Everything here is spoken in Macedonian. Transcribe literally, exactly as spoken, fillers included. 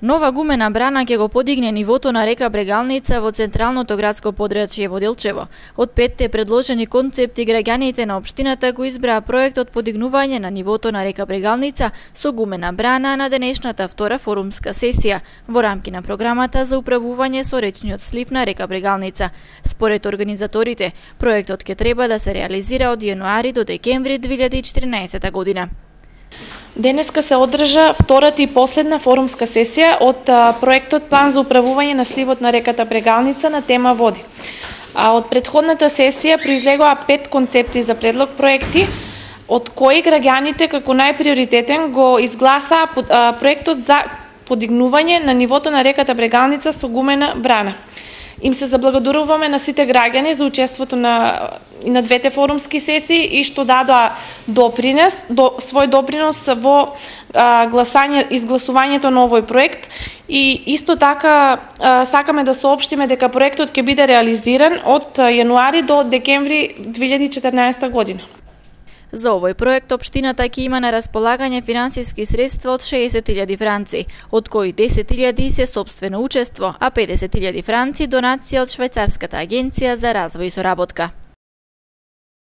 Нова гумена брана ќе го подигне нивото на река Брегалница во централното градско подрачје во Делчево. Од петте предложени концепти, граѓаните на општината го избраа проектот подигнување на нивото на река Брегалница со гумена брана на денешната втора форумска сесија во рамки на програмата за управување со речниот слив на река Брегалница. Според организаторите, проектот ќе треба да се реализира од јануари до декември две илјади и четирнаесетта година. Денеска се одржа втората и последна форумска сесија од проектот План за управување на сливот на реката Брегалница на тема води. А од претходната сесија произлегоа пет концепти за предлог проекти, од кои граѓаните како најприоритетен го изгласаа проектот за подигнување на нивото на реката Брегалница со гумена брана. Им се заблагодаруваме на сите граѓани за учеството на и на двете форумски сесии и што дадоа допринес, до, свој допринос во а, гласање, изгласувањето на овој проект и исто така а, сакаме да соопштиме дека проектот ќе биде реализиран од јануари до декември две илјади и четирнаесетта година. За овој проект општината ќе има на располагање финансиски средства од шеесет илјади франци, од кои десет илјади се сопствено учество, а педесет илјади франци донација од Швајцарската агенција за развој и соработка.